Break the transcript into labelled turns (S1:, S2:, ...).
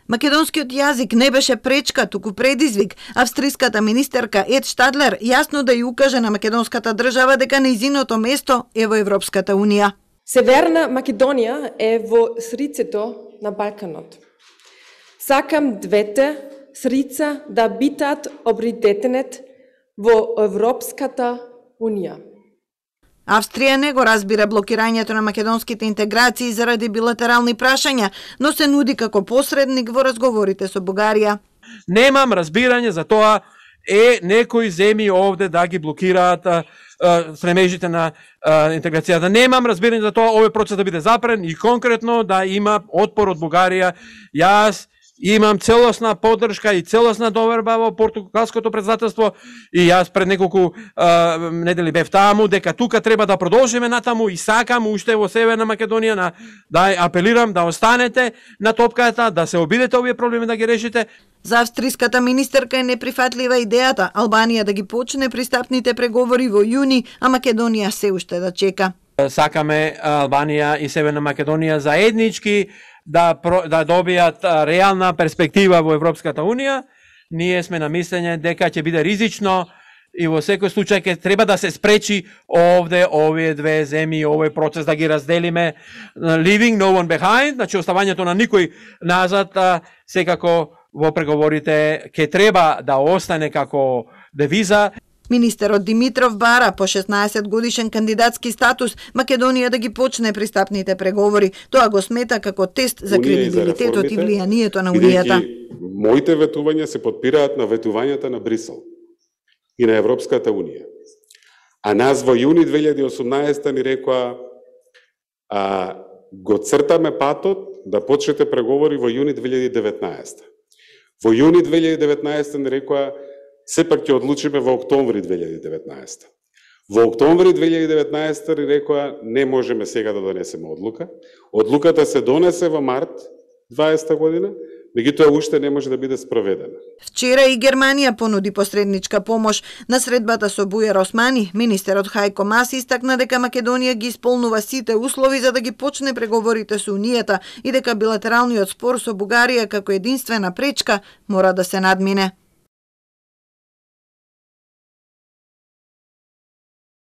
S1: Македонскиот јазик не беше пречка, туку предизвик. Австриската министерка Ед Штадлер јасно да ја укаже на македонската држава дека нејзиното место е во Европската унија.
S2: Северна Македонија е во срцето на Балканот. Сакам двете срица да битат обридетенет во Европската унија.
S1: Австрија не го разбира блокирањето на македонските интеграции заради билатерални прашања, но се нуди како посредник во разговорите со Бугарија.
S3: Немам разбирање за тоа некои земји овде да ги блокираат стремежите на интеграцијата. Немам разбирање за тоа овој процес да биде запрен и конкретно да има отпор од Бугарија. Јас имам целосна поддршка и целосна доверба во португалското претседателство и јас пред неколку недели бев таму дека тука треба да продолжиме натаму и сакам уште во Северна Македонија да апелирам да останете на топката, да се обидете овие проблеми да ги решите.
S1: За австриската министерка е неприфатлива идејата Албанија да ги почне пристапните преговори во јуни, а Македонија се уште да чека.
S3: Сакаме Албанија и Северна Македонија заеднички да добијат реална перспектива во Европската унија. Ние сме на мислење дека ќе биде ризично и во секој случај ќе треба да се спречи овде овие две земји, овој процес да ги разделиме. Leaving no one behind, значи оставањето на никој назад, секако во преговорите ќе треба да остане како девиза.
S1: Министерот Димитров бара по 16 годишен кандидатски статус Македонија да ги почне пристапните преговори. Тоа го смета како тест за кредибилитетот и влијанието на Унијата.
S4: Моите ветувања се подпираат на ветувањата на Брисел и на Европската унија. А нас во јуни 2018 ни рекоа го цртаме патот да почнете преговори во јуни 2019. Во јуни 2019 ни рекоа сепак ќе одлучиме во октомври 2019. Во октомври 2019 ни рекоа не можеме сега да донесеме одлука. Одлуката се донесе во март 2020 година, меѓутоа уште не може да биде спроведена.
S1: Вчера и Германија понуди посредничка помош. На средбата со Бујар Османи, министерот Хајко Мас истакна дека Македонија ги исполнува сите услови за да ги почне преговорите со Унијата и дека билатералниот спор со Бугарија како единствена пречка мора да се надмине.